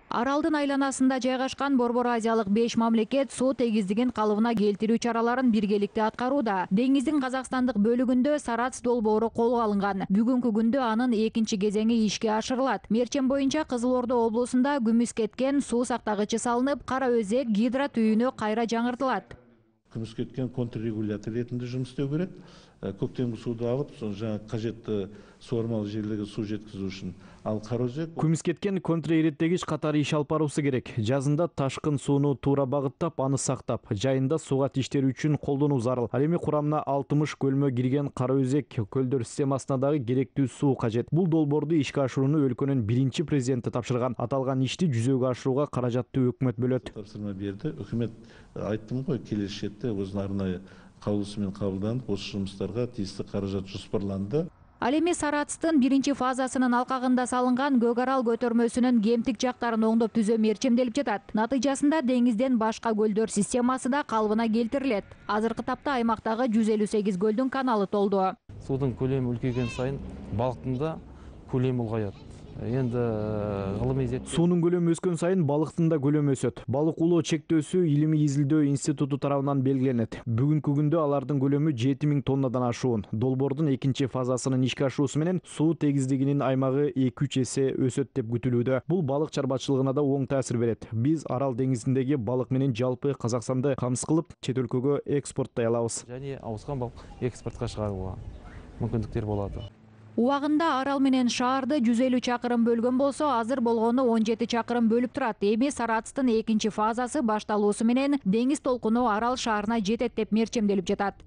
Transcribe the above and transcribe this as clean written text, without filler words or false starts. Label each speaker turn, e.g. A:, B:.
A: Аралдын айланасында жайгашкан Борбор Азиялык 5 мамлекет суу тегиздигин калыбына келтирүү чараларын биргеликте аткарууда. Деңиздин Казакстандык бөлүгүндө Сарац долбоору колго алынган. Бүгүнкү күндө анын экинчи кезеңи ишке ашырылат. Мерчем боюнча Кызыл Ордо облусунда күмүс кеткен суу сактагычы салынып, Кара Өзек гидротүйүнү кайра жаңыртылат.
B: Күмүс кеткен контррегулятор ретинде жұмыс істеу керек. Көктемгі суды алып, жаңа қажетті суармалы жерлерге су жеткізу үшін. Ал Кара Өзек
C: күмүс кеткен контрэреттегич катары иш алып баруусу керек. Жазында ташкын сууну туура багыттап, аны сактап, жайында суга тиштери үчүн колдонуу зарыл. Ал эми курамына 60 көлмө кирген Кара Өзек көлдөр системасына дагы керектүү суу кажет. Бул долбоорду ишке ашырууну өлкөнүн биринчи президенти тапшырган. Аталган ишти жүзөгө ашырууга каражатты өкмөт бөлөт.
B: Тапсырма берди. Өкмөт айттым ғой, келесі жетте өзүнүн арнайы каулусумен кабылданып, осы жұмыстарға тиісті каражат жоспарланды.
A: Ал эми Сарацтын биринчи фазасынын алкагында салынган Көк Арал көтөрмөсүнүн кемтик жактарын оңдоп түзөө мерчемделип жатат. Натыйжасында деңизден башка көлдөр системасы да калыбына келтирилет. Азыркы тапта аймактагы 158 көлдүн каналы толду.
D: Судун көлөмү үлкейген сайын балыктын да көлөмү улгайат. Енді ғылыми зерттеу.
C: Суунун көлөмү өскөн сайын балыктын да көлөмү өсөт. Балык улоо чектөөсү Илимий изилдөө институту тарабынан белгиленет. Бүгүнкү күндө алардын көлөмү 7000 тоннадан ашуун. Долбоордун экинчи фазасынын ишке ашуусу менен суу тегиздигинин аймагы 2-3 эсе өсөт деп күтүлүүдө. Бул балык чарбачылыгына да оң таасир берет. Биз Арал деңизиндеги балык менен жалпы Казакстанды камсыз кылып, чет өлкөгө экспорттой алабыз.
D: Және ауысқан балык экспортко чыгарууга мүмкүндүктөр болот.
A: Убагында Арал менен шаарды 150 чакырым бөлгөн болсо, азыр болгону 17 чакырым бөлүп турат. Эми Сарацтын экинчи фазасы башталуусу менен деңиз толкуну Арал шаарына жетет деп мерчемделип жатат.